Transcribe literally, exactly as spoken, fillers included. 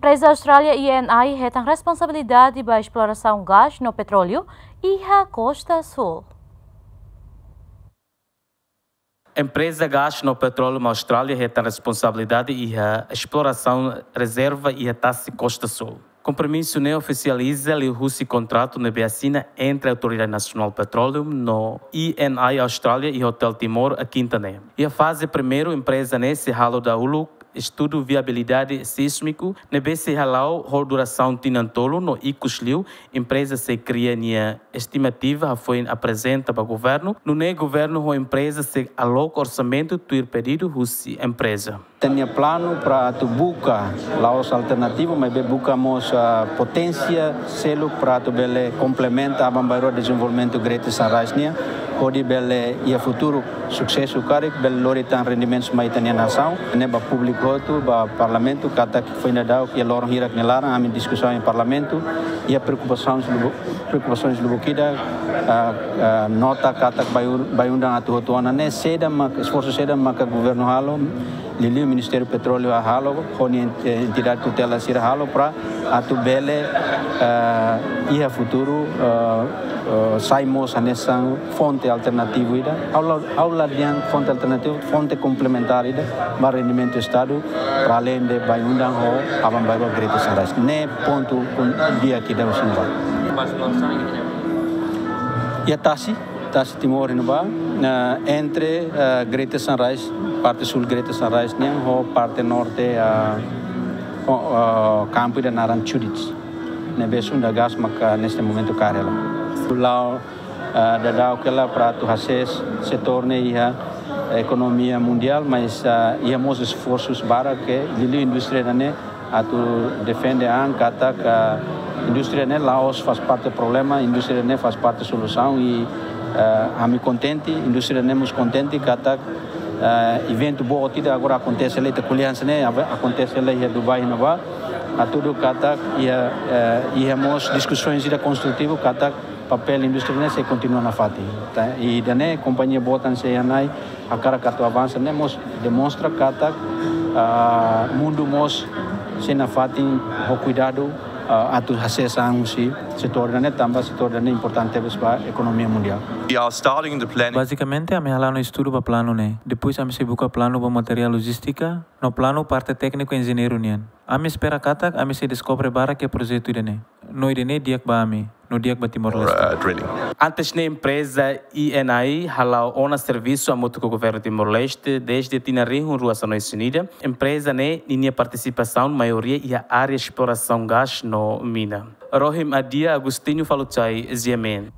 Empreza Austrália E N I hetan responsabilidade ba esplorasaun gás no petróleu iha Kosta Súl. Empreza Gás no Petróleu Austrália hetan responsabilidade iha esplorasaun rezerva iha tasi Kosta Súl. Kompromisu ne'e ofisializa liuhusi kontratu ne'ebé asina entre Autoridade Nasionál Petróleu no E N I Austrália iha Hotel Timor, Kinta ne'e. Iha faze primeiru, empreza ne'e sei halo dahuluk estudu viabilidade sísmiku ne'ebé sei hala'o ho durasaun tinan tolu no ikus liu empreza sei kria nia estimativa hafoin aprezenta ba governu, nune'e governu ho empreza sei aloka orsamentu tuir pedidu husi empreza. Ita-nia planu para atu buka la'ós alternativu, maibé buka mós, ah, poténsia seluk para atu bele komplementa aban-bainrua dezenvolvimentu Greater Sunrise nian, hodi bele iha futuru susesu karik, bele lori tan rendimentus mai ita-nia nasaun. Ne'e ba públiku hotu, ba parlamentu, katak foin daudauk iha loron hirak nia laran ami diskusaun iha parlamentu, iha preokupasaun lubuk, preokupasaun lubuk ida, ah, ah, nota katak Bayu-, Bayu-Undan atu hotu ona ne'e, saida mak, esforsu saida maka governu halo, liuliu Ministériu Petróleu halo, ho nia ent-, entidade tutela sira halo para atu bele, eh, iha futuru, eh, eh, sai mós hanesan fonte alternativu ida. Ha'u la, ha'u la dehan fonte alternativu, fonte komplementár ida ba rendimentu Estadu, para além de Bayu-Undan ho aban-bainrua Greater Sunrise. Ne'e pontu kun dia kita usin ba. Iha tasi, tasi Timor iha ne'ebá, eh, entre, eh, Greater Sunrise, parte súl Greater Sunrise nian, ho parte norte, eh, ho, eh, kampu ida naran Chudits. Ne'ebé Sunda Gas maka neste momentu kaer hela. La'o, eh, daudauk hela para atu hasees setór ne'e iha ekonomia mundiál, mas, eh, iha mós esforsus barak ke liuliu indústria ida-ne'e atu defende an katak indústria ne'e la'ós faz parte problema, indústria ne'e faz parte solusaun i, eh, ami kontente, indústria ne'e mós kontente katak, eh, eventu boot ida agora akontese hela, ita ko'alia hanesan ne'e, ave-, akontese hela iha Dubai iha ne'ebá, hatudu katak iha, eh, iha mós diskusaun ida konstrutivu katak papél indústria ne'e sei kontinua nafatin. Tá? I ida-ne'e kompañia boot hanesan C N I hakarak atu avansa ne'e mós demonstra katak, ah, mundu mós sei nafatin ho kuidadu, ah, atu hasees an husi setór ida-ne'e tanba setór ida-ne'e importante tebes ba ekonomia mundiál. We are starting the planning. Bazikamente, ami hala'o ona estudu ba planu ne'e. Depois ami sei buka planu ba materiál lojístika, no planu parte tékniku enjeñeiru nian. Ami espera katak ami sei deskobre barak iha projetu ida-ne'e. No ida-ne'e di'ak ba ami, no di'ak ba Timor-Leste. Uh, drilling. Antes ne'e empreza E N I hala'o ona servisu hamutuk ho governu Timor-Leste dezde tinan rihun rua sanulu-resin-ida. Empreza ne'e ninia partisipasaun maioria iha área esplorasaun gás no mina. Rohim Adia, Agostinho Faluchai, G M N.